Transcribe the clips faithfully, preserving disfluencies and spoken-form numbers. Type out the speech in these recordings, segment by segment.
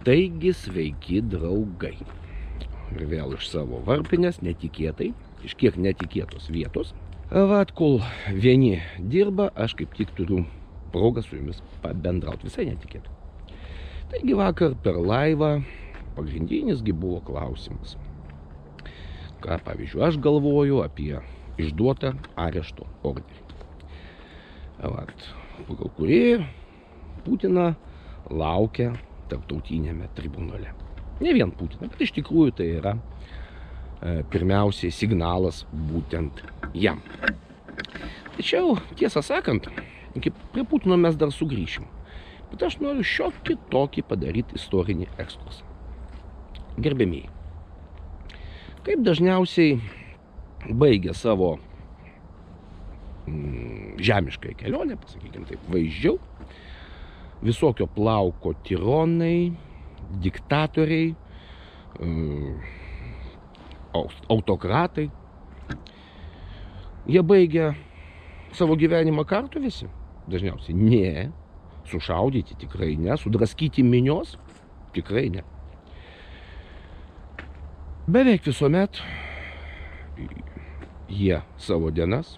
Taigi sveiki draugai. Ir vėl iš savo varpinės, netikėtai, iš kiek netikėtos vietos. Vat, kol vieni dirba, aš kaip tik turiu progą su jumis pabendrauti, visai netikėtai. Taigi vakar per laivą pagrindinisgi buvo klausimas. Ką, pavyzdžiui, aš galvoju apie išduotą arešto orderį. Vat, pagal kurį Putiną laukia tarptautinėme tribunale. Ne vien Putiną, bet iš tikrųjų tai yra e, pirmiausiai signalas būtent jam. Tačiau, tiesą sakant, iki prie Putino mes dar sugrįšim. Bet aš noriu šiokį tokį padaryti istorinį ekskursą. Gerbėmieji, kaip dažniausiai baigia savo mm, žemišką kelionę, pasakykime taip, vaizdžiau, visokio plauko tironai, diktatoriai, autokratai. Jie baigia savo gyvenimą kartu visi? Dažniausiai ne. Sušaudyti tikrai ne. Sudraskyti minios? Tikrai ne. Beveik visuomet jie savo dienas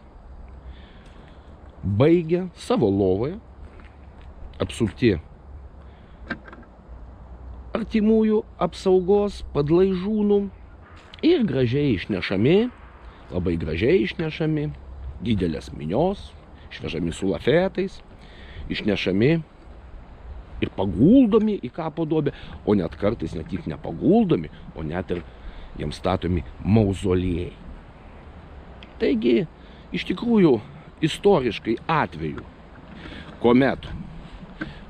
baigia savo lovoje, apsupti artimųjų apsaugos padlaižūnų ir gražiai išnešami, labai gražiai išnešami, didelės minios, išvežami su lafetais, išnešami ir paguldomi į kapo duobę, o net kartais ne tik nepaguldomi, o net ir jiems statomi mauzoliejai. Taigi, iš tikrųjų, istoriškai atveju, kuomet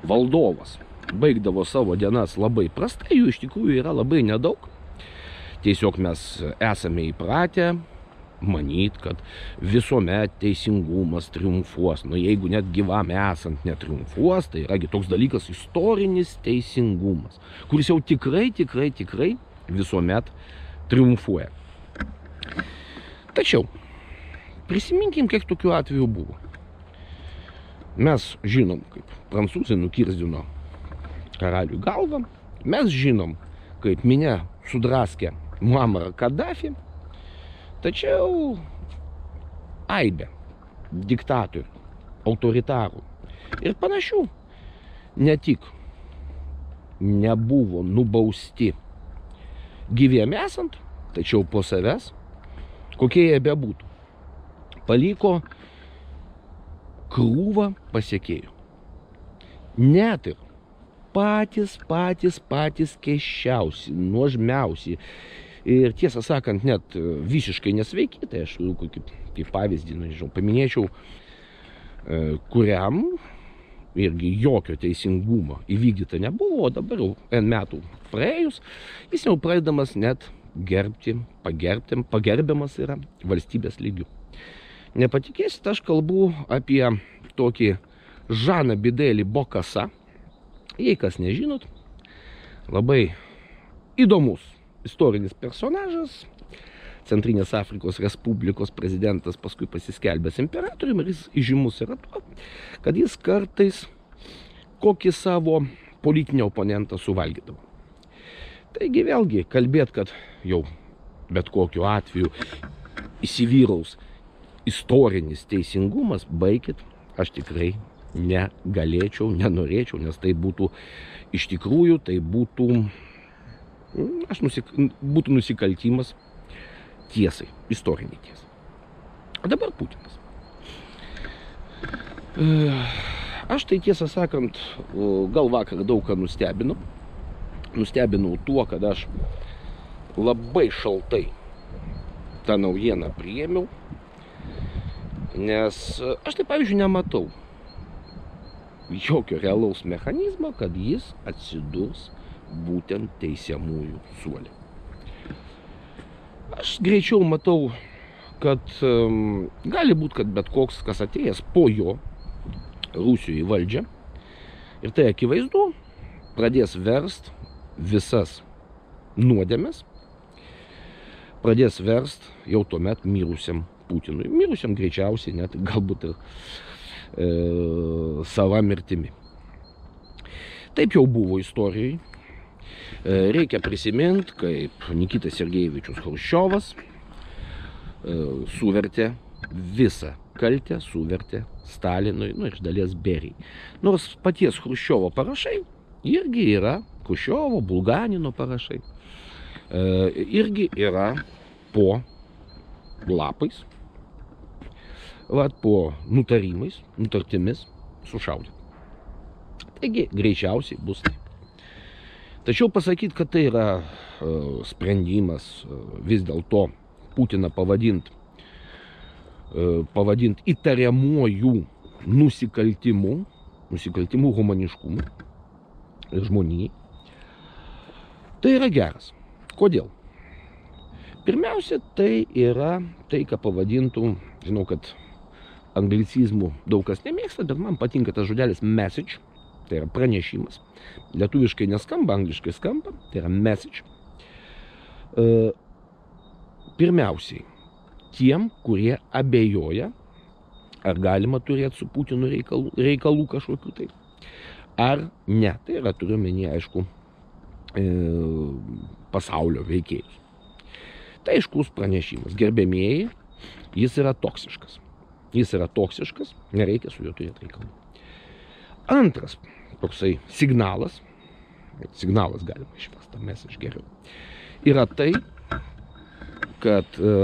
valdovas baigdavo savo dienas labai prastai, jų iš tikrųjų yra labai nedaug. Tiesiog mes esame įpratę manyt, kad visuomet teisingumas triumfuos. Nu, jeigu net gyvam esant netriumfuos, tai yra toks dalykas istorinis teisingumas, kuris jau tikrai, tikrai, tikrai visuomet triumfuoja. Tačiau, prisiminkim, kiek tokių atvejų buvo. Mes žinom, kaip prancūzai nukirzdino karalių galvą. Mes žinom, kaip minia sudraskė Muammarą Kadafį. Tačiau aibė diktatorių, autoritarų ir panašių ne tik nebuvo nubausti gyviem esant, tačiau po savęs, kokie jie bebūtų, paliko krūvą pasekėjų. Net ir patys, patys, patys keiščiausi, nuožmiausi ir tiesą sakant net visiškai nesveiki, tai aš kaip, kaip pavyzdį, nežinau, paminėčiau, kuriam irgi jokio teisingumo įvykdyta nebuvo, o dabar jau N metų praėjus, jis jau pradedamas net gerbti, pagerbti, pagerbiamas yra valstybės lygių. Nepatikėsit, aš kalbu apie tokį Žaną Bidelį Bokassa. Jei kas nežinot, labai įdomus istorinis personažas, Centrinės Afrikos Respublikos prezidentas, paskui pasiskelbęs imperatoriumi, ir jis įžymus yra tuo, kad jis kartais kokį savo politinį oponentą suvalgydavo. Taigi vėlgi kalbėt, kad jau bet kokiu atveju įsivyraus istorinis teisingumas, baikit, aš tikrai negalėčiau, nenorėčiau, nes tai būtų iš tikrųjų, tai būtų, aš nusik, būtų nusikaltimas tiesai, istoriniai tiesai. O dabar Putinas. Aš tai tiesą sakant, gal vakar daug ką nustebinau. Nustebinau tuo, kad aš labai šaltai tą naujieną priėmiau. Nes aš tai, pavyzdžiui, nematau jokio realaus mechanizmo, kad jis atsidurs būtent teisiamųjų suole. Aš greičiau matau, kad um, gali būti, kad bet koks, kas atėjęs po jo Rusijoje į valdžią, ir tai akivaizdu, pradės verst visas nuodėmes, pradės verst jau tuomet mirusiam Putinui. Mirusiam greičiausiai net galbūt ir e, sava mirtimi. Taip jau buvo istorijai. Reikia prisiminti, kaip Nikitas Sergejevičius Chruščiovas suvertė visą kaltę, suvertė Stalinui, nu iš dalies Berijai. Nors paties Chruščiovo parašai irgi yra, Chruščiovo, Bulganino parašai, irgi yra po lapais, vat, po nutarimais, nutartimis sušaudyti. Taigi, greičiausiai bus tai. Tačiau pasakyti, kad tai yra uh, sprendimas uh, vis dėlto Putiną pavadinti uh, pavadint įtariamuojų nusikaltimų, nusikaltimų humaniškumui ir žmonijai, tai yra geras. Kodėl? Pirmiausia, tai yra tai, ką pavadintų, žinau, kad anglicizmų daug kas nemėgsta, bet man patinka tas žodelis message, tai yra pranešimas. Lietuviškai neskamba, angliškai skamba, tai yra message. Pirmiausiai, tiem, kurie abejoja, ar galima turėti su Putinu reikalų, reikalų kažkokių tai, ar ne. Tai yra, turiu menį, aišku, pasaulio veikėjus. Tai aiškus pranešimas. Gerbėmieji, jis yra toksiškas. Jis yra toksiškas, nereikia su juo turėti reikalų. Antras toksai signalas, signalas galima išvestą, mes iš geriau, yra tai, kad e,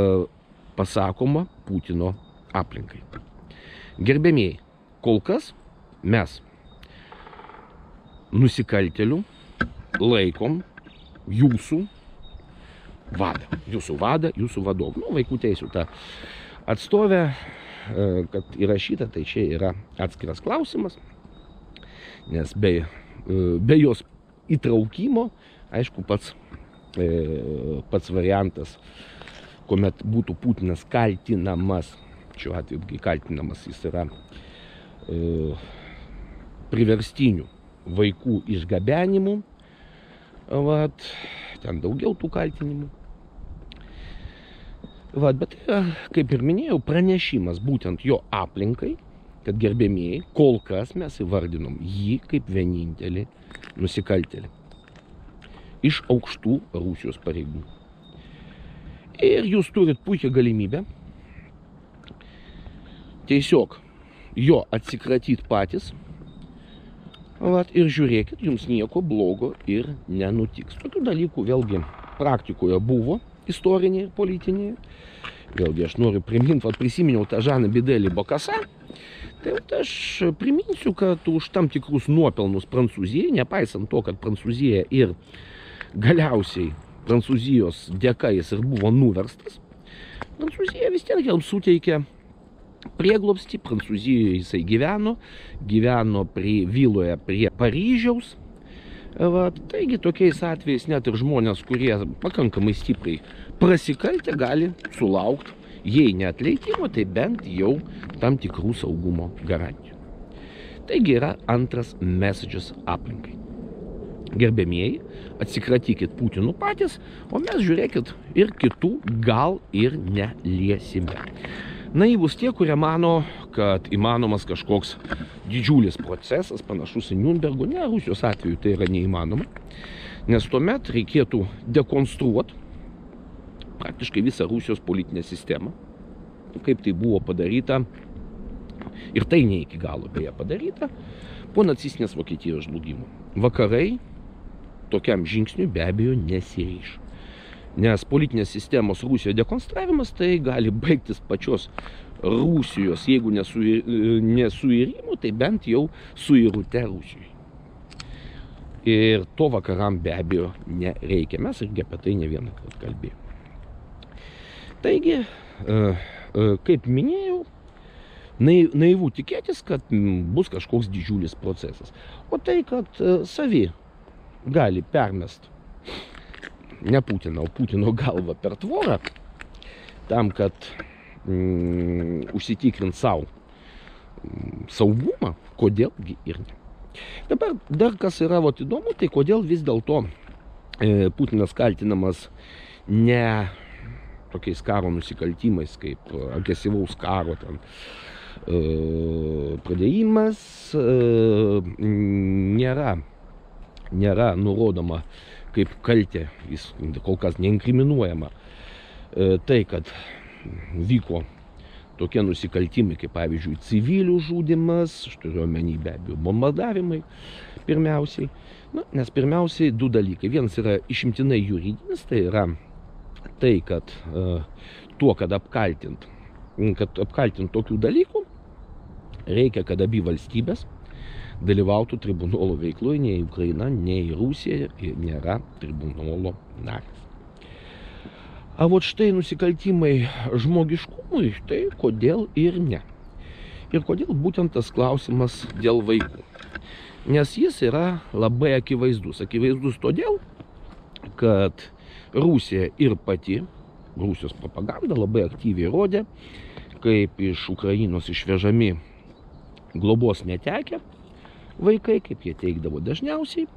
pasakoma Putino aplinkai. Gerbėmieji, kol kas mes nusikaltėlių laikom jūsų vadą, jūsų vadą, jūsų vadovą. Nu, vaikų teisių ta atstovė, kad įrašyta, tai čia yra atskiras klausimas, nes be, be jos įtraukimo, aišku, pats, pats variantas, kuomet būtų Putinas kaltinamas, šiuo atveju kaltinamas, jis yra priverstinių vaikų išgabenimu, vat, ten daugiau tų kaltinimų. Vat, bet tai, kaip ir minėjau, pranešimas būtent jo aplinkai, kad gerbėmieji, kol kas mes įvardinom jį kaip vienintelį nusikaltėlį iš aukštų Rusijos pareigų. Ir jūs turit puikią galimybę tiesiog jo atsikratyti patys, vat, ir žiūrėkit, jums nieko blogo ir nenutiks. Tokių dalykų vėlgi praktikoje buvo, istorinėje ir politinėje. Vėlgi aš noriu priminti, vat, prisiminiau tą Žaną Bidelį Bokasą. Tai vat, aš priminsiu, kad už tam tikrus nuopelnus Prancūzijai, nepaisant to, kad Prancūzija ir galiausiai Prancūzijos dėka jis ir buvo nuverstas, Prancūzija vis tiek jam suteikė prieglobstį, Prancūzijoje jisai gyveno, gyveno prie viloje prie Paryžiaus. Va, taigi tokiais atvejais net ir žmonės, kurie pakankamai stipriai prasikaltę, gali sulaukti, jei ne atleidimo, tai bent jau tam tikrų saugumo garantijų. Taigi yra antras messages aplinkai. Gerbėmieji, atsikratykit Putinų patys, o mes žiūrėkit ir kitų gal ir neliesime. Naivus tie, kurie mano, kad įmanomas kažkoks didžiulis procesas, panašus į Niurnbergo. Ne, Rusijos atveju tai yra neįmanoma, nes tuomet reikėtų dekonstruoti praktiškai visą Rusijos politinę sistemą, kaip tai buvo padaryta, ir tai ne iki galo beje padaryta, po nacistinės Vokietijos žlugimo. Vakarai tokiam žingsniui be abejo nesiryš. Nes politinės sistemos Rusijoje dekonstravimas tai gali baigtis pačios Rusijos, jeigu nesuirimu, tai bent jau suirute Rusijoje. Ir to vakaram be abejo nereikia. Mes irgi apie tai ne vieną kartą kalbėjome. Taigi, kaip minėjau, naivu tikėtis, kad bus kažkoks didžiulis procesas. O tai, kad savi gali permest ne Putiną, o Putino galvą per tvorą, tam, kad mm, užsitikrint savo mm, saugumą, kodėlgi ir ne. Dabar dar kas yra vat, įdomu, tai kodėl vis dėlto e, Putinas kaltinamas ne tokiais karo nusikaltimais, kaip agresyvaus karo ten, e, pradėjimas, e, nėra, nėra nurodoma kaip kaltė, jis kol kas neinkriminuojama, tai, kad vyko tokie nusikaltimai, kaip pavyzdžiui civilių žudymas, aš turiu omeny be abejo bombardavimai pirmiausiai. Na, nes pirmiausiai du dalykai. Vienas yra išimtinai juridinis, tai yra tai, kad uh, tuo, kad apkaltint, kad apkaltint tokių dalykų, reikia, kad abi valstybės dalyvautų tribunolo veikloje, nei Ukraina, nei Rusija nėra tribunolo narės. A vot štai nusikaltimai žmogiškumui, tai kodėl ir ne. Ir kodėl būtent tas klausimas dėl vaikų. Nes jis yra labai akivaizdus. Akivaizdus todėl, kad Rusija ir pati, Rusijos propaganda labai aktyviai rodė, kaip iš Ukrainos išvežami globos netekę vaikai, kaip jie teikdavo dažniausiai.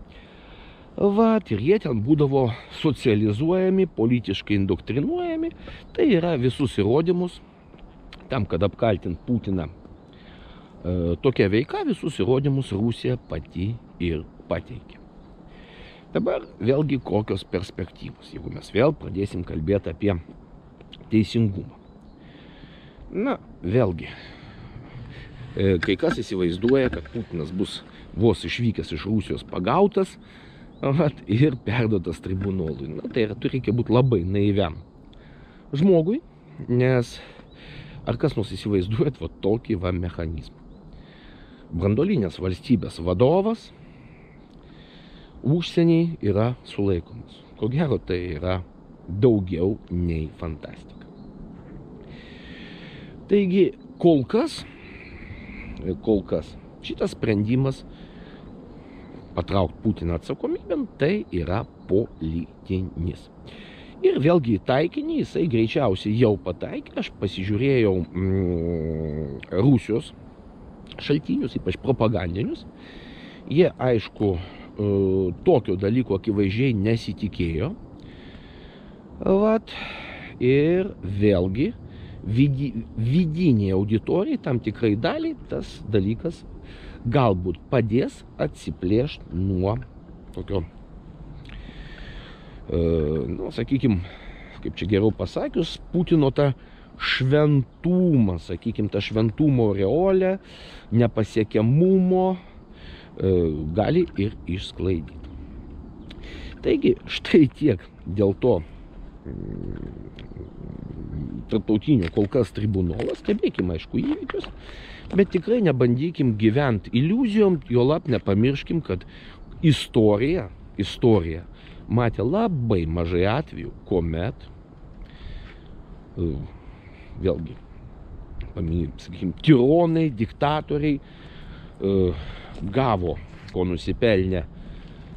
Vat, ir jie ten būdavo socializuojami, politiškai indoktrinuojami. Tai yra visus įrodymus, tam, kad apkaltint Putiną e, tokia veika, visus įrodymus Rusija pati ir pateikė. Dabar vėlgi kokios perspektyvos, jeigu mes vėl pradėsim kalbėti apie teisingumą. Na, vėlgi, e, kai kas įsivaizduoja, kad Putinas bus vos išvykęs iš Rusijos pagautas, vat, ir perduotas tribunolui. Na, tai yra, reikia būti labai naiviam žmogui, nes ar kas nors įsivaizduojat va tokį va mechanizmą. Branduolinės valstybės vadovas užsieniai yra sulaikomas. Ko gero, tai yra daugiau nei fantastika. Taigi, kol kas, kol kas šitas sprendimas patraukti Putiną atsakomybėn, tai yra politinis. Ir vėlgi taikinį jisai greičiausiai jau pataikė. Aš pasižiūrėjau mm, Rusijos šaltinius, ypač propagandinius. Jie, aišku, tokio dalyko akivaizdžiai nesitikėjo. Vat, ir vėlgi vidi, vidiniai auditorijai, tam tikrai daliai, tas dalykas galbūt padės atsiplėšti nuo tokio, e, nu, sakykime, kaip čia geriau pasakius, Putino tą šventumą, sakykime, tą šventumo aureolę, nepasiekiamumo e, gali ir išsklaidyti. Taigi, štai tiek dėl to tarptautinio kol kas tribunolas, stebėkime, aišku, įvykius, bet tikrai nebandykim gyventi iliuzijom, juolab nepamirškim, kad istorija, istorija matė labai mažai atvejų, kuomet, vėlgi, sakykim, tironai, diktatoriai gavo, ko nusipelnė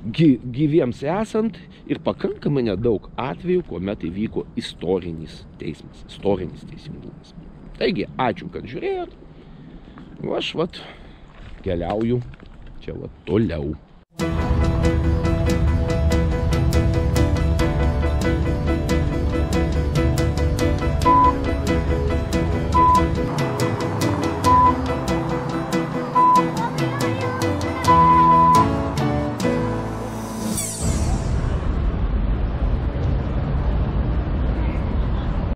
gyviems esant, ir pakankamai nedaug atvejų, kuomet įvyko istorinis teismas, istorinis teisingumas. Taigi, ačiū, kad žiūrėjot. Aš vat keliauju čia vat toliau.